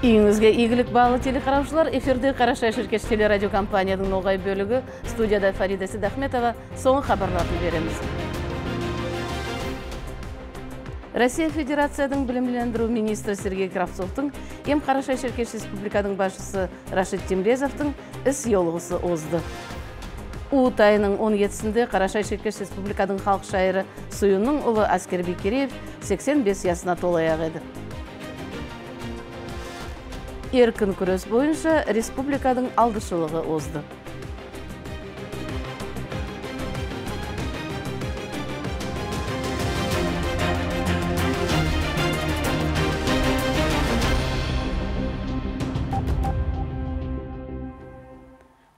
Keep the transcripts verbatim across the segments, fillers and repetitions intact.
Үйіңізге игілік балы телекараушылар, эфирде Қарашай Шеркеш телерадиокомпанияның ноғай бөлігі, студияда Фарида Сидахметова, соңғы хабарларын береміз. Россия Федерацияның білімлендіру министрі Сергей Кравцовтың, ем Қарашай Шеркеш Республиканың башысы Рашид Темрезовтың іс йолғысы озды. Уыт айының он жетісінде Қарашай Шеркеш Республиканың халық шайыры Суюнның ұлы Аскербек Кереев сексен бес ясына толаяқ еді. Еркін күрес бойынша республиканың алдышылығы озды.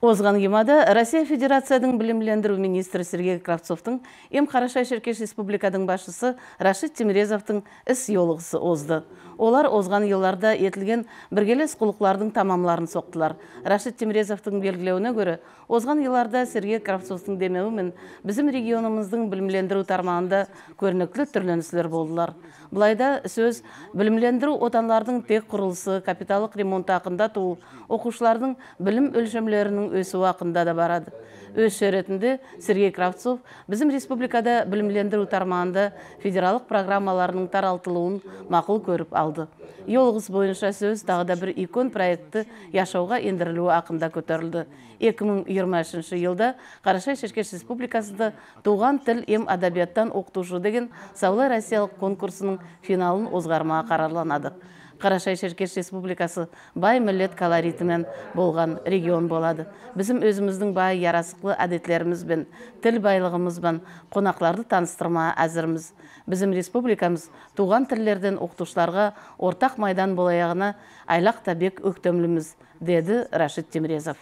Озған гемада Россия Федерацияның білімлендіру министрі Сергей Кравцовтың, ем Қарашай Шеркеш Республиканың башысы Рашид Темрезовтың іс йолғысы озды. Олар озған елларда етілген біргелес құлықлардың тамамларын соқтылар. Рашид Темрезовтың белгілеуіне көрі, озған елларда Сергей Кравцовтың демеуімен біздің регионымыздың білімлендіру тармағында көрнеклі түрленісілер болдылар. Бұлайда сөз білімлендіру отанлардың тек құрылысы, капиталық ремонт ақында туыл, оқушылардың білім өлшемлерінің өсі уақында да барады. Өз шеретінде Сергей Кравцов bizim республикада білімлендіру тармағында федералық программаларының таралтылуын мақұл көріп алды. Йолғыз бойынша сөз тағыда бір икон проекті яшауға ендірілуі ақында көтерілді. екі мың жиырма үшінші жылда Қарашай Шеркеш Республикасында туған тіл ем адабияттан оқытушы деген Саулы Россиялық конкурсының финалын озғармаға қарарланады. Қарашай Шеркеш Республикасы бай миллет колоритімен болған регион болады. Bizim өзіміздің бай ярасықлы әдетлеріміз бен тіл байлығымыз бен қонақларды таныстырмаға әзірміз. Bizim республикамыз туған тілдерден оқытушыларға ортақ майдан болаяғына айлақ табек өктемліміз, деді Рашид Темрезов.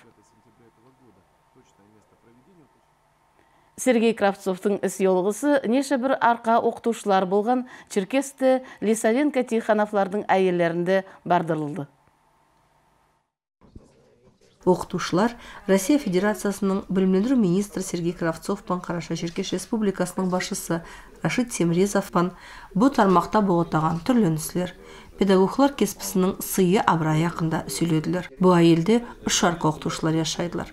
Сергей Кравцовтың іс йолғысы неше бір арқа оқытушылар болған Черкесті Лисавенко Тихановлардың әйелерінде бардырылды. Оқытушылар Россия Федерациясының білімлендіру министрі Сергей Кравцовпан Қарашай Шеркеш Республикасының башысы Рашид Темрезовпан бұл тармақта болғытаған түрленісілер. Педагоглар кеспісінің сыйы абырай ақында сөйледілер. Бұл әйелде үш арқа оқытушылар яшайдылар.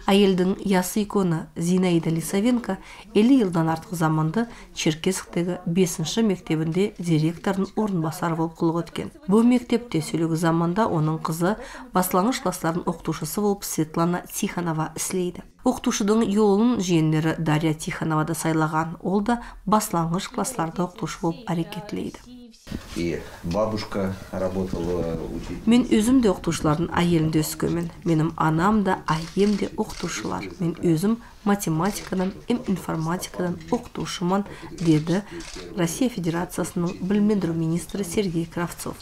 Әйелдің ясы иконы Зинаида Лисавенко елу жылдан артық заманды Черкесктегі бесінші мектебінде директордың орынбасары болып қылық өткен. Бұл мектепте сөйлегі заманда оның қызы баслаңғыш класслардың оқытушысы болып Светлана Тихонова іслейді. Оқытушының йолын жиенлері Дарья Тихонова да сайлаған, ол да баслаңғыш классларда оқытушы болып әрекетлейді. И бабушка работала учителем. Мен өзім де оқытушылардың әйелінде өскенмін. Менің анам да, әйем де оқытушылар. Мен өзім математикадан, ем информатикадан оқытушымын, деді Россия Федерациясының білімлендіру министрі Сергей Кравцов.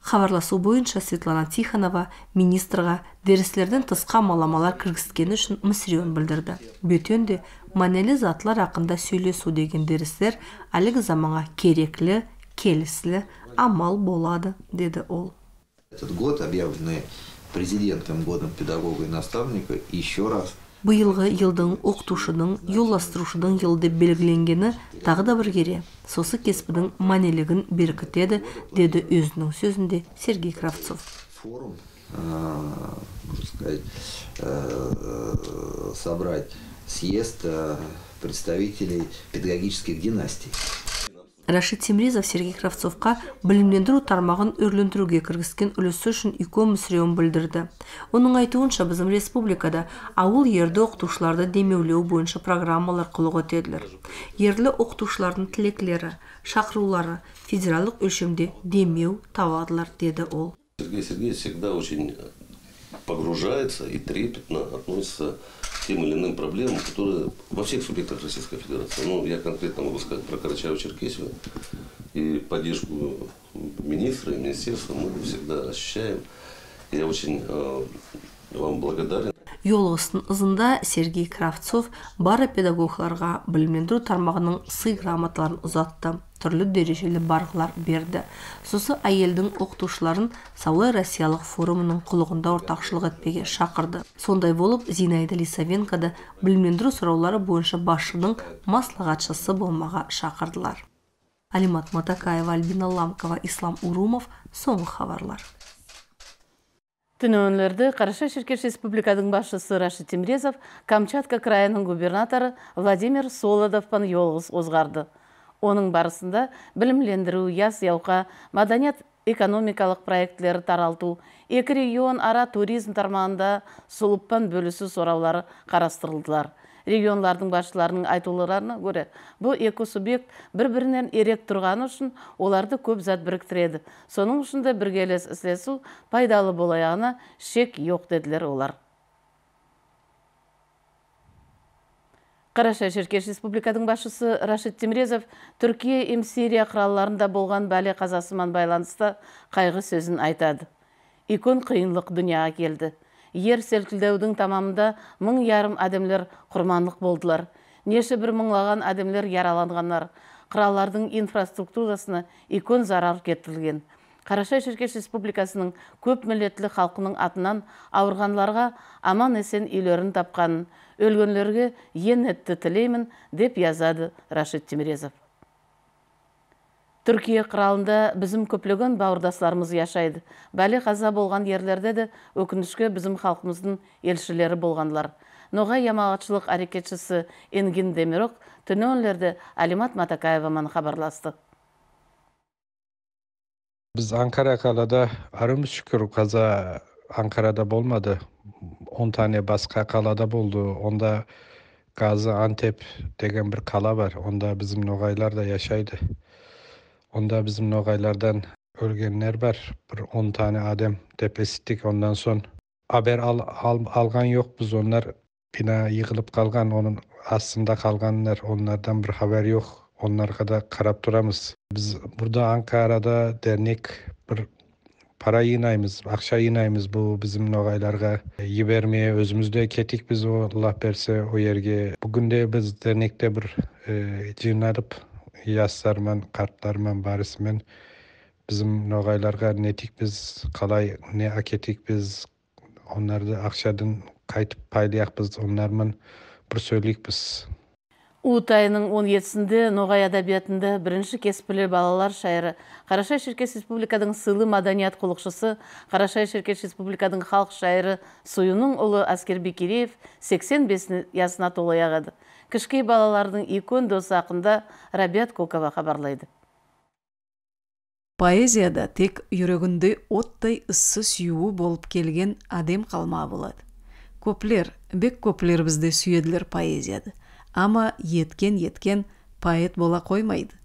Хабарласу бойынша Светлана Тихонова министрға дәрістерден тысқа маламалар кіргізгені үшін мүсіреуін білдірді. Бөтенде манелі затлар ақында сөйлесу деген дәрістер әлігі заманға кереклі, келісілі амал болады, деді ол. Этот год, объявленный президентом годом педагога и наставника, еще раз. Бұйылғы елдің оқытушының, yolластырушының елді белгіленгені тағы да бір кере. Сосы кеспінің манелігін беркітеді, деді өзінің сөзінде Сергей Кравцов. Форум, можно сказать, собрать съезд представителей педагогических династий. Рашид Темрезов Сергей Кравцовқа білімлендіру тармағын өрлендіруге кіргізген үлесі үшін икон мүсіреуін білдірді. Оның айтуынша bizim республикада ауыл ерді оқытушыларды демеулеу бойынша программалар қылық өтеділер. Ерлі оқытушылардың тілеклері, шақырулары федералдық өлшемде демеу табадылар, деді ол. Сергей Сергеевич всегда очень погружается и трепетно относится к тем или иным проблемам, которые во всех субъектах Российской Федерации. Ну, я конкретно могу сказать про Карачаево-Черкесию и поддержку министра и министерства мы всегда ощущаем. Я очень э, вам благодарен. Йолғыстың ызында Сергей Кравцов бары педагогларға білімлендіру тармағының сый грамоталарын ұзатты. Түрлі дәрежелі барғылар берді. Сосы әйелдің оқытушыларын Саулы Россиялық форумының құлығында ортақшылық етпеге шақырды. Сондай болып, Зинаида Лисавенко да білімлендіру сұраулары бойынша басшының маслағатшысы болмаға шақырдылар. Алимат Матакаева, Альбина Ламкова, Ислам Урумов, соңғы хабарлар. Түнөнлерді Қараша-Шеркеш Республикадың башысы Рашид Темрезов Камчатка крайының губернаторы Владимир Солодовпан yolğuz озғарды. Оның барысында білімлендіру, яс яуқа, маданият экономикалық проектлері таралту, екі регион ара туризм тармағында сұлыппан бөлісі сораулары қарастырылдылар. Регионлардың басшыларының айтуларына көре, бұл екі субъект бір-бірінен ерек тұрғаны үшін оларды көп зат біріктіреді. Соның үшінде біргелес іслесу пайдалы болаяғына шек жоқ деділер олар. Қараша-Шеркеш Республикадың башысы Рашид Темрезов Түркия ем Сирия қыралларында болған бәле қазасымен байланысты қайғы сөзін айтады. Икон қиынлық дүнияға келді. Ер селкілдеудің тамамында мың ярым әдемлер құрманлық болдылар. Неше бір мыңлаған әдемлер яраланғанлар. Қыраллардың инфраструктурасына икон зарар кетірілген. Қараша-Шеркеш Республикасының көп миллетлі халқының атынан ауырғанларға аман есен үйлерін тапқанын, өлгенлерге ен етті тілеймін деп язады Рашид Темрезов. Түркия қыралында бізім көплеген бауырдасларымыз яшайды. Бәле қаза болған ерлерде де өкінішке бізім халқымыздың елшілері болғанлар. Ноғай ямағатшылық әрекетшісі Энгин Демирок түнөнлерді Алимат Матакаеваман хабарласты. Biz Ankara kalada arım şükür kaza Ankara'da olmadı. on tane başka kalada buldu. Onda Gaziantep degen bir kala var. Onda bizim nogaylar da yaşaydı. Onda bizim nogaylardan ölgenler var. Bir on tane adem tepesittik. Ondan son haber al, al, algan yok biz onlar. Bina yıkılıp kalgan, onun aslında kalganlar. Onlardan bir haber yok. Onlara da karap duramız. Biz burada Ankara'da dernek bir para yığınayımız, akşa yığınayımız bu bizim nogaylarga yibermeye özümüzde ketik biz o Allah berse o yerge. Bugün de biz dernekte bir e, cığınarıp yazlarman, kartlarman, barismen bizim nogaylarga netik biz kalay ne aketik biz onlarda akşadan kaytıp paylayak biz onlarman bir söyleyik biz. Уыт айының он жетісінде Ноғай әдәбиятында бірінші кеспілі балалар шайыры Қараша-Шеркеш Республикадың сыйлы маданият құлықшысы, Қараша-Шеркеш Республикадың халық шайыры Суюның ұлы Аскер Бекереев сексен бес ясына толаяғады. Кішкей балалардың икон досы ақында Рабиат Кокова хабарлайды. Поэзияда тек жүрегінде оттай ыссы сүйуі болып келген адем қалма болады. Көплер, бек көплер бізде сүйеділер поэзияды. Ама еткен-еткен поэт бола қоймайды.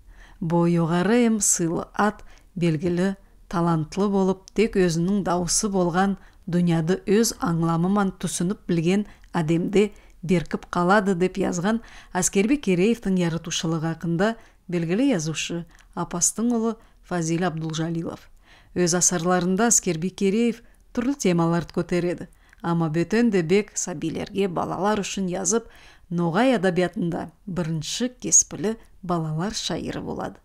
Бұл жоғары ем сыйлы ат, белгілі, талантлы болып, тек өзінің дауысы болған дүнияды өз аңламыман түсініп білген адемде беркіп қалады деп yazған Аскер Бекереевтің яратушылығы хақында белгілі язушы апастың ұлы Фазил Абдулжалилов. Өз асарларында Аскер Бекереев түрлі темаларды көтереді. Ама бөтен де бек сәбилерге балалар үшін yazып, Ноғай әдәбиятында бірінші кеспілі балалар шайыры болады.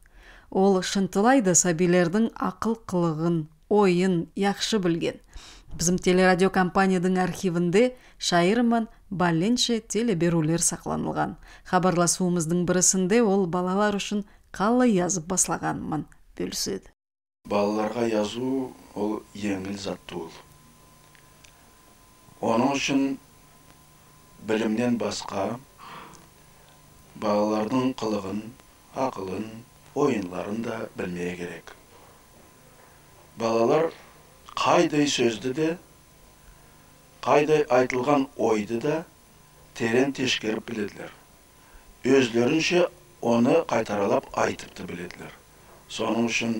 Ол шынтылайды сәбилердің ақыл қылығын, ойын яқшы білген. Біздің телерадиокомпанияның архивінде шайырыман баленше телеберулер сақланылған. Хабарласуымыздың бірісінде ол балалар үшін қалай yazып баслағанмын бөліседі. Балаларға yazу ол еңіл затты ол. Оның үшін білімнен басқа балалардың қылығын, ақылын, ойынларын да білмeye керек. Балалар қайдай сөзді де, қайдай айтылған ойды да терен тешкеріп біледілер. Өзлерінше оны қайтаралап айтыпты біледілер. Соның үшін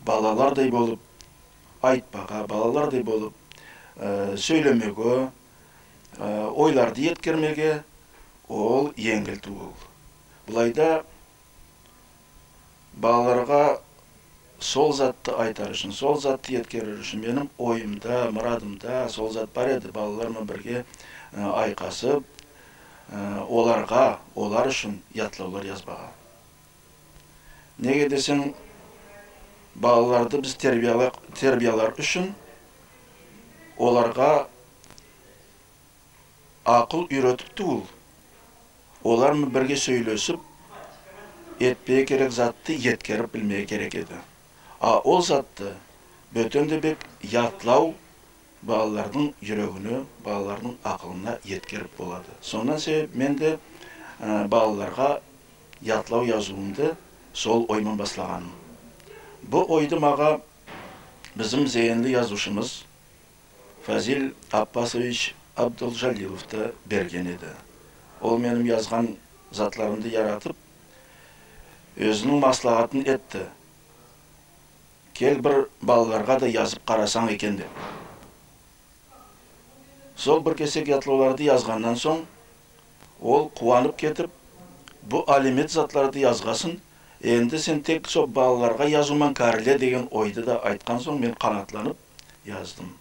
балалардай болып айтпаға, балалардай болып сөйлемеге, ойларды еткермеге ол еңгіл туыл. Бұлайда балаларға сол затты айтар үшін, сол затты еткерер үшін менің ойымда, мұрадымда сол зат бар еді. Балалармен бірге айқасып, оларға, олар үшін ятлаулар yazбаға. Неге десең, балаларды біз тербиялар үшін оларға ақыл үйретіп туыл. Олармен бірге сөйлесіп, етпей керек затты еткеріп білмей керек еді. А ол затты бөтенде бек ятлау балалардың жүрегіне, балалардың ақылына еткеріп болады. Сонан себеп мен де балаларға ятлау yazуымды сол оймен баслағаным. Бұл ойды маға bizim зейінді yazушымыз Фазил Аппасович Абдулжалиловты берген еді. Ол менің yazған затларымды яратып, өзінің маслағатын етті. Кел бір балаларға да yazып қарасаң екен деп. Сол бір кесек ятлауларды yazғаннан соң, ол қуанып кетіп, бұл алимет затларды yazғасын, енді сен тек сол балаларға yazумен кәріле деген ойды да айтқан соң, мен қанатланып яздым.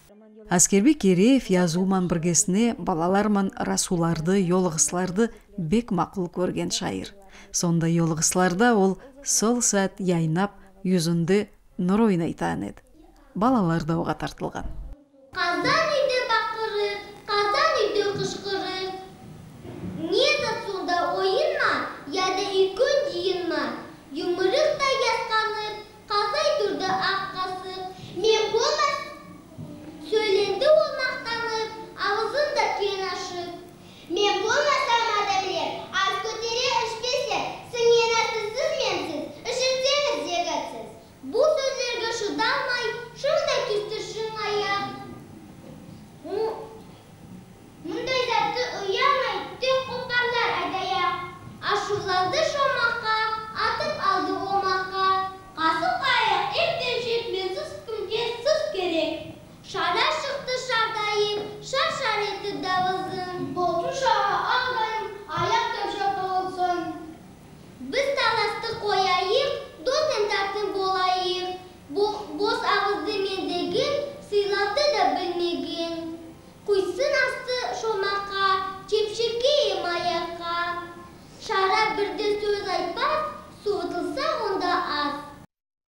Аскербек Кереев язуыман біргесіне балаларман расуларды, йолығысларды бек мақұл көрген шайыр. Сонда йолығысларда ол сол сәт яйнап, yüzünde нұр ойнайтан еді. Балалар да оға тартылған. Қазан үйде бақырыр, қазан үйде қышқырыр. Не затсуда ойын ма, яда үйкөн дейін ма? Юмырықта ясқанып, қазай тұрды аққасып. Мен болмас, söyленді ол мақтанып, ауызында кен ашып. Мен болмасам адамлер, аз көтере ішпесе, сіңенасызсыз менсіз, ішірсеңіз зегатсыз. Бұл сөздерге шыдалмай, шында күсті шың аяқ. Мұндай затты ұямай, тек қопарлар айдаяқ. Ашуланды шомаққа, атып алды омаққа. Қасып аяқ, ектен жетменсіз күнге сыз керек. Шара шықты шардайым, шар-шар етті давызым. Болтын шаға ағдайым, аяқ төмшек болсын. Біз таласты қояйық, досын тартын болайық. Бос ağızды мендеген, сыйлады да білмеген. Құйсын асты шомаққа, чепшекейім аяққа. Шара бірді сөз айтпас, суытылса онда аз.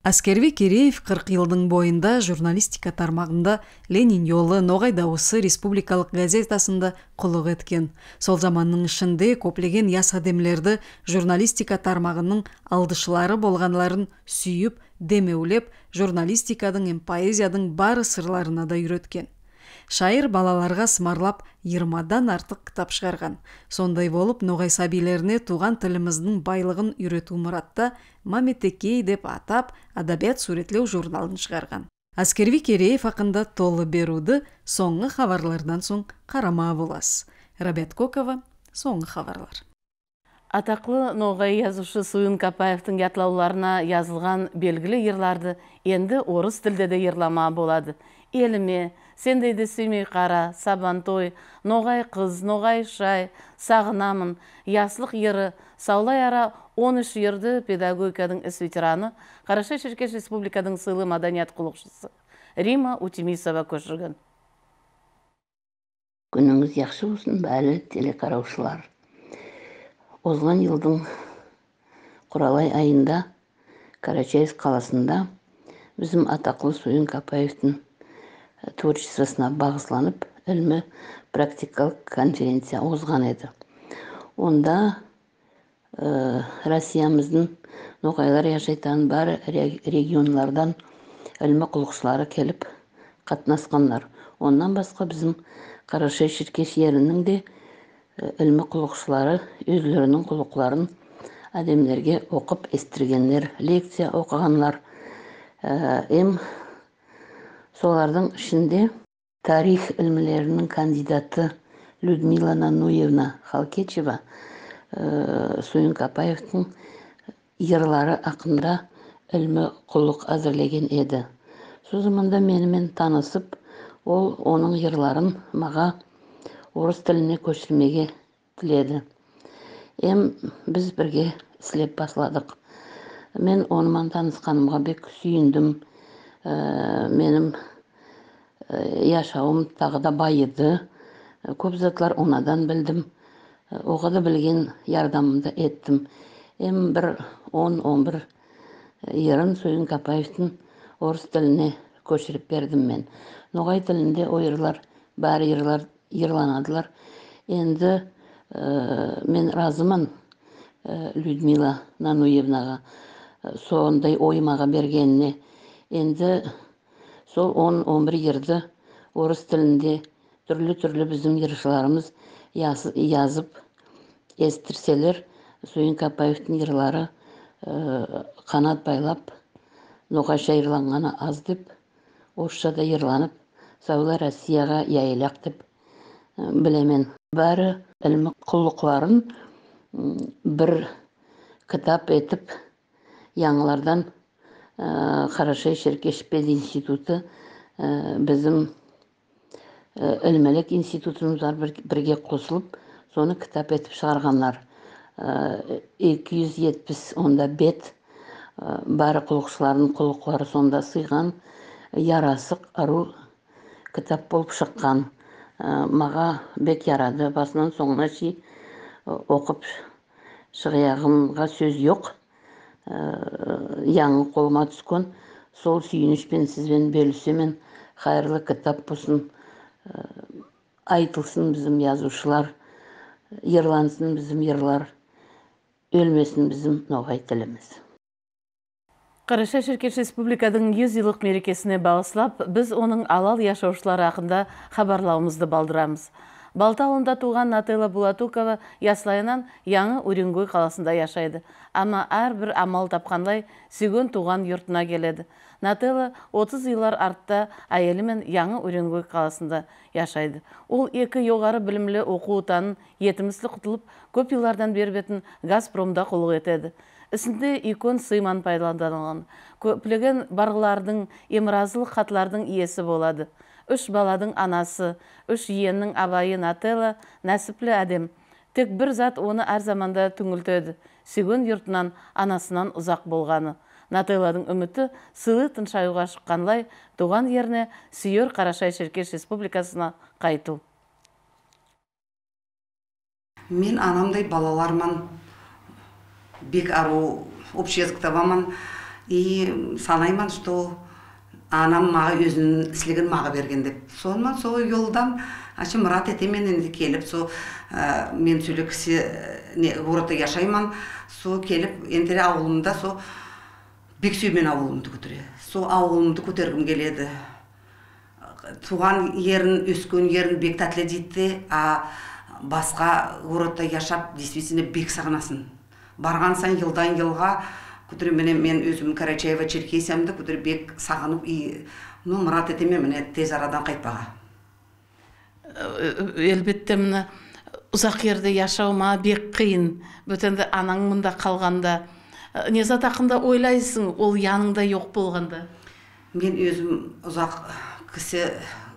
Аскербек Кереев қырық жылдың бойында журналистика тармағында Ленин жолы Ноғай дауысы республикалық газетасында құлық еткен. Сол заманның ішінде көплеген яс адемлерді журналистика тармағының алдышылары болғанларын сүйіп, демеулеп, журналистикадың эм поэзиядың бары сырларына да үйреткен. Шайыр балаларға сымарлап жиырмадан артық кітап шығарған. Сондай болып, Ноғай сәбилеріне туған тіліміздің байлығын үйрету мұратта Маметекей деп атап, адабият суретлеу журналын шығарған. Аскербек Кереев хақында толы беруді соңғы хабарлардан соң қарама болас. Рабиат Кокова, соңғы хабарлар. Атақлы Ноғай yazушы Суын Капаевтың ятлауларына yazылған белгілі ерларды енді орыс тілде де ерлама болады. Еліме, сендейді сүймей қара, Сабантой, Ноғай қыз, Ноғай шай, Сағынамын, Яслық ері, Саулай ара он үш ерді педагогикадың іс ветераны, Қарашай Шеркеш Республикадың сыйлы маданият құлықшысы Рима Утимисова көшірген. Күніңіз яқшы болсын, бәлі телекараушылар. Озған елдің Құралай айында Карачаевск қаласында bizim атақлы Суын Капаевтың творчествосына бағысланып, ілмі практикалық конференция озған еді. Онда ә, Россиямыздың Ноғайлар яшайтан бар регионлардан ілмі құлықшылары келіп қатынасқанлар. Ондан басқа bizim Қарашай Шеркеш ерінің де ілмі құлықшылары өзлерінің құлықларын әдемлерге оқып естіргенлер, лекция оқығанлар. Эм солардың ішінде тарих ілмілерінің кандидаты Людмила Нануевна Халкечева Суын Капаевтың ерлары ақында ілмі құлық әзірлеген еді. Сол заманда менімен танысып, ол оның ерларын маға орыс тіліне көшірмеге тіледі. Эм біз бірге іслеп басладық. Мен онымен танысқанымға бек сүйіндім. Менің яшауым тағы да байыды. Көп затлар онадан білдім. Оға да білген ярдамымды еттім. Эм бір он-он бір ерін Суын Капаевтың орыс тіліне көшіріп бердім мен. Ноғай тілінде ойырлар, бәрі ерлар ерланадылар. Енді мен разымын. Людмила Нануевнаға сондай оймаға бергеніне. Енді сол он бір ерді орыс тілінде түрлі-түрлі біздің ершіларымыз yazып естірселер, Сойын Капаевтың ерлары қанат байлап, ноғаша ерланғаны аз деп, орысшада ерланып, Саулы Россияға яйылақ деп білемен. Бәрі ілімі құлықларын бір кітап етіп, яңылардан Қарашай Шеркеш пединституты біздің ілімелік институтымыздар бірге қосылып, соны кітап етіп шығарғанлар. екі жүз жетпіс онда бет бәрі құлықшылардың құлықлары сонда сыйған ярасық ару кітап болып шыққан. Маға бек ярады, басынан соңына шей оқып шығияғымға сөз жоқ. Яңы қолыма түскен, сол сүйінішпен сізбен бөлісемен қайырлы кітап болсын, айтылсын біздің язушылар, ерлансын біздің ерлар, өлмесін біздің ноғай тіліміз. Қарашай Шеркеш Республикадың жүз жылдық мерекесіне бағыслап, біз оның алал яшаушылары хақында хабарлауымызды балдырамыз. Балтауында туған Нателла Булатукова яслайынан Яңы Уренгой қаласында яшайды. Ама әрбір амал тапқанлай сүйген туған йұртына келеді. Нателла отыз жылдар артта әйелімен Яңы Уренгой қаласында яшайды. Ол екі жоғары білімлі оқу ұтанын етімізді құтылып, көп жылдардан бербетін Газпромда құлық етеді. Ісінде икон сыйман пайдаланылған. Көплеген барғылардың емразылық хатлардың иесі болады. Үш баладың анасы, үш иеннің абайы Нателла нәсіплі әдем. Тек бір зат оны әр заманда түңілтеді. Сүйген йұртынан, анасынан ұзақ болғаны. Нателладың үміті сылы тыншаюға шыққанлай, туған еріне сүйер Қарашай Шеркеш Республикасына қайту. Мен анамдай балаларман, бек ару общезвктаваман, и санайман, что анам маға өзінің сілігін маға берген деп. Сонымен сол елдан ашы мұрат етемен енді келіп, со мен сөйлі кісі ғұраты яшайман, со келіп, ендері ауылымда со бек сүймен ауылымды көтере. Со ауылымды көтергім келеді. Туған ерін, өскен ерін бек тәтлі дейті, а басқа ғұраты яшап, действительно бек сағынасын. Барған сан елдан елға көтірі мен өзім Карачаева Черкесиямды көтірі бек сағынып, ну, мұрат етеме мені тез арадан қайтпаға. Әлбетте мені ұзақ ерді яшауыма бек қиын. Бөтенді анаң мұнда қалғанда. Незат ақында ойлайсың, ол яныңда жоқ болғанда? Мен өзім ұзақ кісі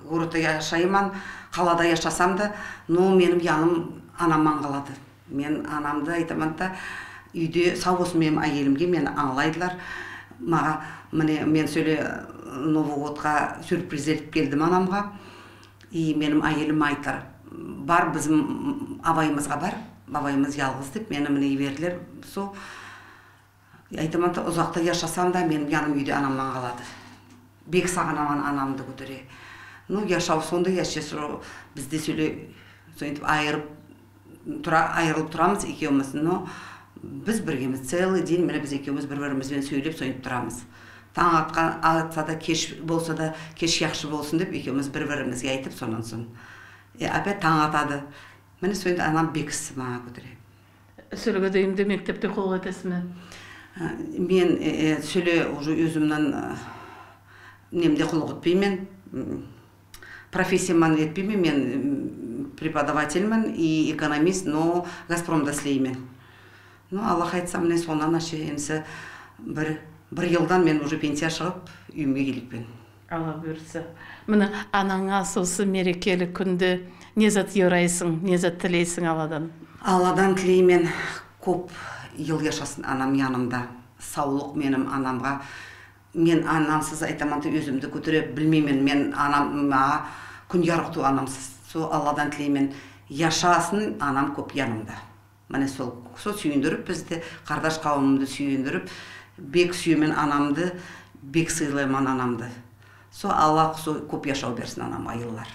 ғұрыты яшайман, қалада яшасам да, но менің яным анаман қалады. Мен анамды айтаманда, үйде сау болсын менің әйелімге мені аңлайдылар. Маға мен сөйле Новый годқа сюрприз етіп келдім анамға. И менің әйелім айтар, бар біздің абайымызға бар, абайымыз ялғыз деп, мені міне берділер. Со айтаманда ұзақта яшасам да менің яным үйде анамнан қалады. Бек сағынаман анамды көтере. Ну, яшау сонда яшесір бізде сөйле айырып айырылып тұрамыз екеуміз, но біз біргеміз, целый день мені біз екеуміз бір-бірімізбен сөйлеп сойып тұрамыз. Таң атқан атса да, кеш болса да, кеш яқшы болсын деп екеуміз бір-бірімізге айтып сонан соң. Опять таң атады. Мені сойып анам бекісі маға көтере. Сөйлеге деймде мектепте қол етесің ме? Мен сөйле өзімнен немде құлық өтпеймен, профессияман етпеймен, мен преподавательмін и экономист, но Газпромда слеймен. Ну, Аллах айтса, міне сонан ашы, емсі бір елдан мен уже пенсия шығып, үйімге келікпен. Алла бөрісі. Міне, анаңа сосы мерекелі күнді незат ерайсың, незат тілейсің Алладан? Алладан тілеймен көп ел яшасын анам янымда. Саулық менім анамға. Мен анамсыз айтаманды өзімді көтере білмеймен. Мен анамға күн ярықту анамсыз. Со Алладан тілеймен яшасын анам көп янымда. Міне сол сүйіндіріп, бізді қардаш қауымымды сүйіндіріп, бек сүйемен анамды, бек сыйлайман анамды. Со Аллах көп яшау берсін анам айыллар.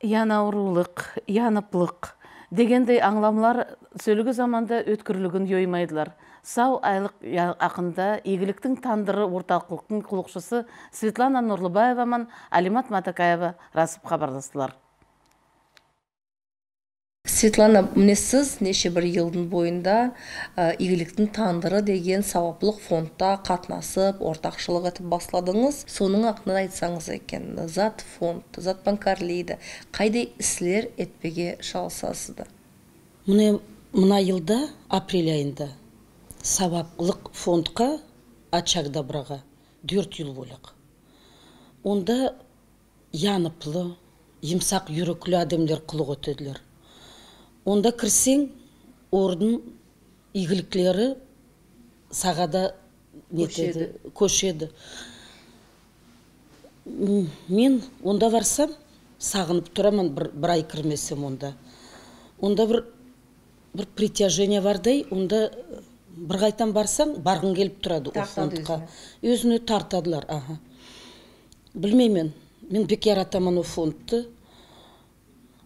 Янаурулық, яныплық, Дегендей аңламлар сөлігі заманда өткірлігін йоймайдылар. Сау айлық ақында игіліктің тандыры орталықтың құлықшысы Светлана Нұрлыбаева мен Алимат Матакаева расып хабарластылар. Светлана, міне сіз неше бір елдің бойында игіліктің тандыры деген сауаплық фондта қатнасып, ортақшылық етіп басладыңыз. Соның ақында айтсаңыз екен, зат фонд, зат банкарлейді. Қайдай іслер етпеге шалысасызды? Міне мына елда апрель айында сабаплық фондқа ачагда браға төрт ел болық. Онда яныплы, емсақ юріклі адамдар құлық өтеділер. Онда кірсең, ордың игіліклері сағада нетеді, көшеді. Мен онда барсам, сағынып тұрамын, бір ай кірмесем онда. Онда бір притяжение бардай, онда бір қайтан барсаң, барғың келіп тұрады о фондқа. Өзіне тартадылар. Білмеймен, мен бек яратамын о фондты.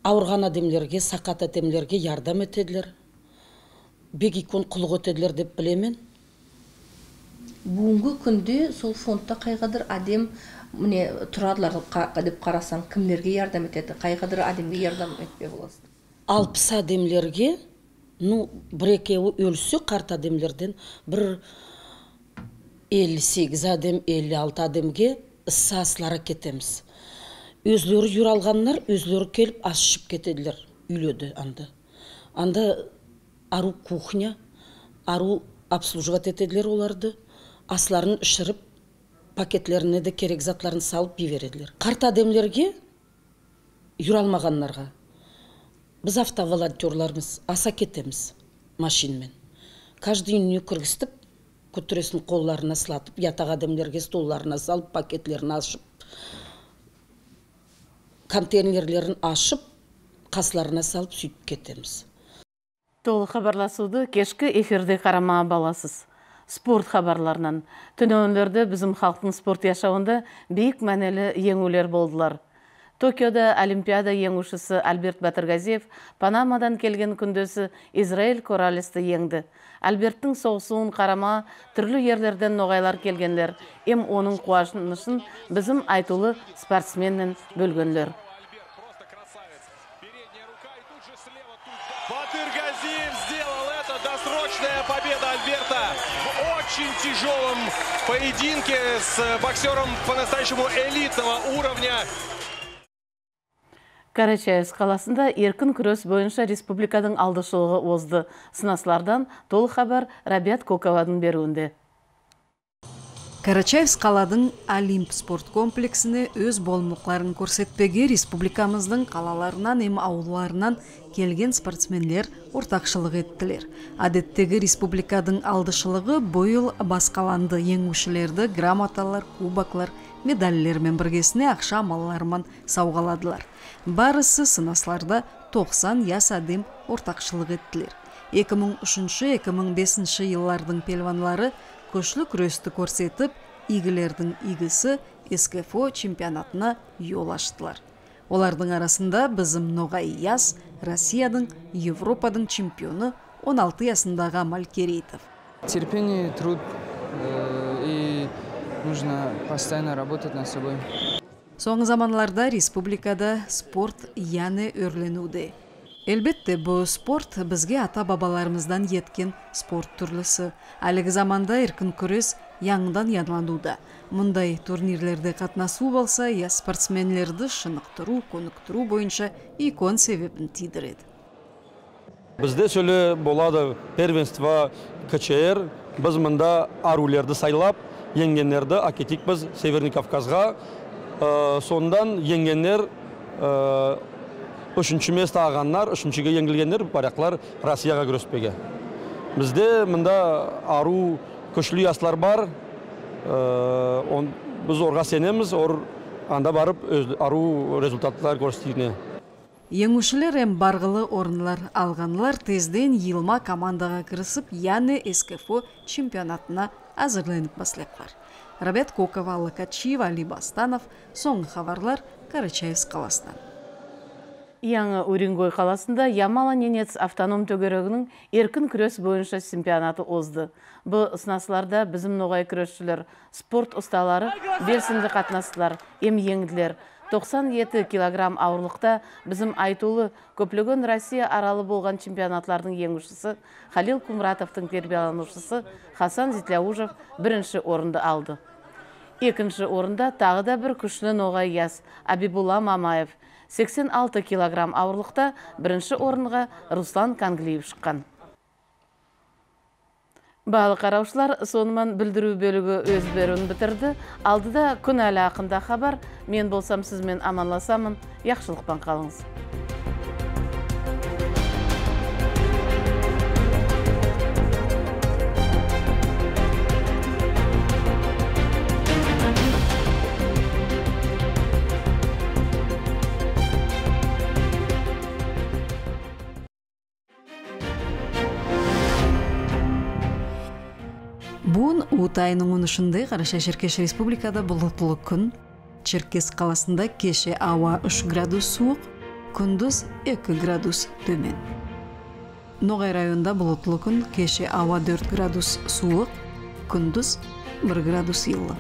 Ауырған адамлерге, сақат адамлерге ярдам етеділер. Бек икон құлық өтеділер деп білемен. Бүгінгі күнде сол фондта қайғадыр адам міне тұрадылар деп қарасаң, кімлерге ярдам етеді? Қайғадыр адамге ярдам етпе боласың? Алпыс адамлерге, ну, бір екеуі өлсі қарт адамлерден, бір елу сегіз адам, елу алты адамге сасылара кетеміз. Өзлері юр алғанлар, өзлері келіп асышып кетеділер, үйледі анда. Анда ару кухня, ару обслуживать етеділер оларды, асларын үшіріп, пакетлеріне де керек затларын салып бейвереділер. Қарт адамлерге, юр алмағанларға, біз автоволонтерларымыз аса кетеміз машинмен. Каждый үйіне кіргістіп, көтіресін қолларына сылатып, ятақ адамлерге столларына салып, пакетлерін ашып, контейнерлерін ашып, қасыларына салып сөйтіп кетеміз. Толы хабарласуды кешкі эфирде қарама баласыз. Спорт хабарларынан. Түнөөнлерді біздің халықтың спорт яшауында бейік мәнелі еңулер болдылар. Токиода Олимпиада еңушісі Альберт Батыргазиев Панамадан келген күндесі Израиль Коралесті еңді. Альберттің соғысуын қарама түрлі ерлерден ноғайлар келгенлер, ем оның қуашынышын біздің айтулы спортсменнен бөлгенлер. Батыргазиев сделал это, досрочная победа Альберта в очень тяжелом поединке с боксером по-настоящему элитного уровня. Карачаевск қаласында еркін күрес бойынша республиканың алдышылығы озды. Сынасылардан толық хабар Рабиат Коковадың беруінде. Карачаевск қаладың Олимп спорт комплексіне өз болмықларын көрсетпеге республикамыздың қалаларынан ем ауыларынан келген спортсменлер ортақшылық еттілер. Адеттегі республикадың алдышылығы бойыл басқаланды еңушілерді грамоталар, кубаклар, медаллермен біргесіне ақша амалларымен сауғаладылар. Барысы сынасларда тоқсан яс адым ортақшылық еттілер. эки миң үчүнчү — эки миң бешинчи жыллардың пелванлары көшлі күресті көрсетіп, игілердің игісі СКФО чемпионатына yol аштылар. Олардың арасында бізім Ноғай Яс, Россиядың, Европадың чемпионы он алты ясындағы Амаль Керейтов. Терпение, труд, и нужно постоянно работать над собой. Соңғы заманларда республикада спорт яны өрленуде. Әлбетте, бұл спорт бізге ата-бабаларымыздан еткен спорт түрлісі. Әлігі заманда еркін күрес яңдан янлануда. Мұндай турнирлерде қатнасу болса, я спортсменлерді шынықтыру, конықтыру бойынша икон себебін тидіреді. Бізде сөлі болады первенство КЧР, біз мұнда арулерді сайлап, енгенлерді акетик біз Северный Кавказға, сондан енгенлер үшінші место ағанлар, үшіншіге еңгілгендер барақлар Россияға күреспеге. Бізде мұнда ару күшлі яслар бар, біз орға сенеміз, анда барып ару результаттар көрсетіне. Еңушілер әм барғылы орынлар алғанлар тезден елма командаға кірісіп, яны СКФО чемпионатына азырленіп баслеқлар. Рабиат Кокова, Али, Али Бастанов, соңғы хабарлар Карачаевск қаласынан. Яңы Уренгой қаласында Ямало-Ненец автоном төгерегінің еркін күрес бойынша чемпионаты озды. Бұл сынасларда біздің ноғай күресшілер, спорт ұсталары, белсенді қатынастылар, ем еңділер. тоқсан жеті килограмм ауырлықта біздің айтулы көплеген Россия аралы болған чемпионатлардың еңушісі Халил Кумратовтың тербияланушысы Хасан Зитляужев бірінші орынды алды. Екінші орында тағы да бір күшілі ноғай яс Абибулла Мамаев сексен алты килограмм ауырлықта бірінші орынға Руслан Канглиев шыққан. Балы қараушылар сонымен білдіру бөлігі өз беруін бітірді. Алдыда күн әлі ақында хабар. Мен болсам сізмен аманласамын. Яқшылықпен қалыңыз. Буын Уутайының онышынды Қараша Черкеш Республикада бұлытлы күн. Черкес қаласында кеше ауа үш градус суық, күндіз екі градус төмен. Ноғай районда бұлытлы күн, кеше ауа төрт градус суық, күндіз бір градус йылы.